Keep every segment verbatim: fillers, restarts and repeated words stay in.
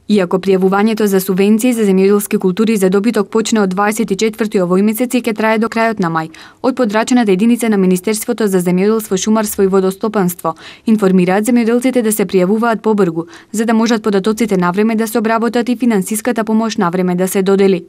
Иако пријавувањето за субвенции за земјоделски култури за добиток почне од дваесет и четврти овој месец и ќе трае до крајот на мај, од подрачената единица на Министерството за земјоделство, шумарство и водостопанство информираат земјоделците да се пријавуваат побрзо, за да можат податоците навреме да се обработат и финансиската помош навреме да се додели.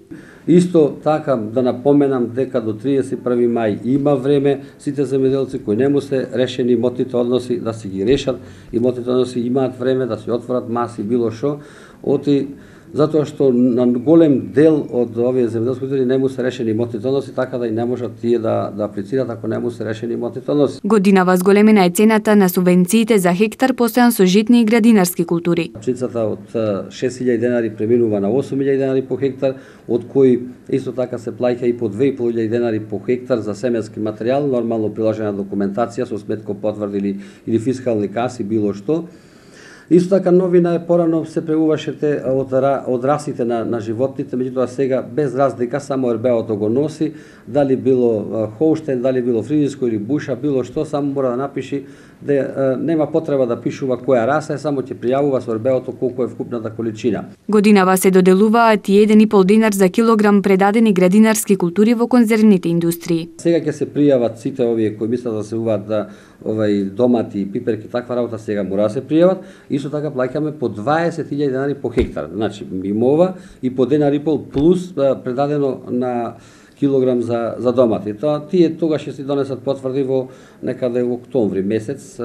Исто така да напоменам дека до триесет и први мај има време сите земјоделци кои не му се решени имотните односи да си ги решат, имотните односи имаат време да се отворат маси било што, оти затоа што на голем дел од овие земјоделски култури не му се решени имотните односи, така да и не можат тие да да аплицираат ако не му се решени имотните односи. Годинава зголемена е цената на субвенциите за хектар постојан со житни и градинарски култури. Пшеницата од шест илјади денари преминува на осум илјади денари по хектар, од кои исто така се плаќа и по две и пол илјади денари по хектар за семенски материјал, нормално приложена документација со сметко потврди или, или фискални каси било што. Исто така новина е порано се преуваше те од, од расите на, на животните, меѓутоа сега без разлика само ер бе о-то го носи, дали било Холштен, дали било фризиско или буша, било што, само мора да напиши да нема потреба да пишува која раса е, само ќе пријавува со ер бе о-то колку е вкупната количина. Годинава се доделуваат и еден и пол динар за килограм предадени градинарски култури во конзервните индустрии. Сега ќе се пријават сите овие кои мислат да се уваат да овај домати, пиперки, таква работа сега мора да се пријават. Исто така плаќаме по дваесет илјади денари по хектар. Значи мимова и по денар и пол плюс предадено на килограм за за домати. Тоа тие тогаш ќе си донесат потврди во некаде во октомври месец,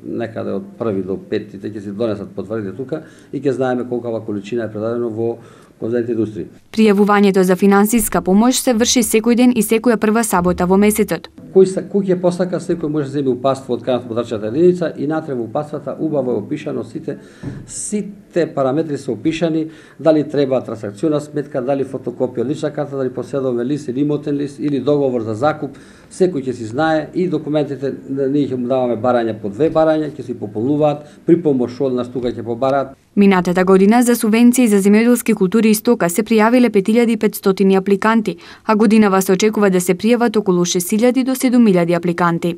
некаде од први до пети ќе си донесат потврдите тука и ќе знаеме колкава количина е предадено во конзервните индустрии. Пријавувањето за финансиска помош се врши секој ден и секоја прва сабота во месецот. Кој се кој ќе посака, секој може да земе упатство од канат подрачната единица и натре во упатствата убаво е опишано сите сите параметри се опишани, дали треба трансакциона сметка, дали фотокопија од лична карта, дали поседовен лист или имотен лист или договор за закуп, секој ќе си знае и документите ние ќе му даваме барања по две барања, ќе си пополнуваат, при помош од нас тука ќе побараат. Минатата година за субвенции за земјоделски култури и стока се пријавиле пет илјади и петстотини апликанти, а годинава се очекува да се пријават околу шест илјади до седум илјади апликанти.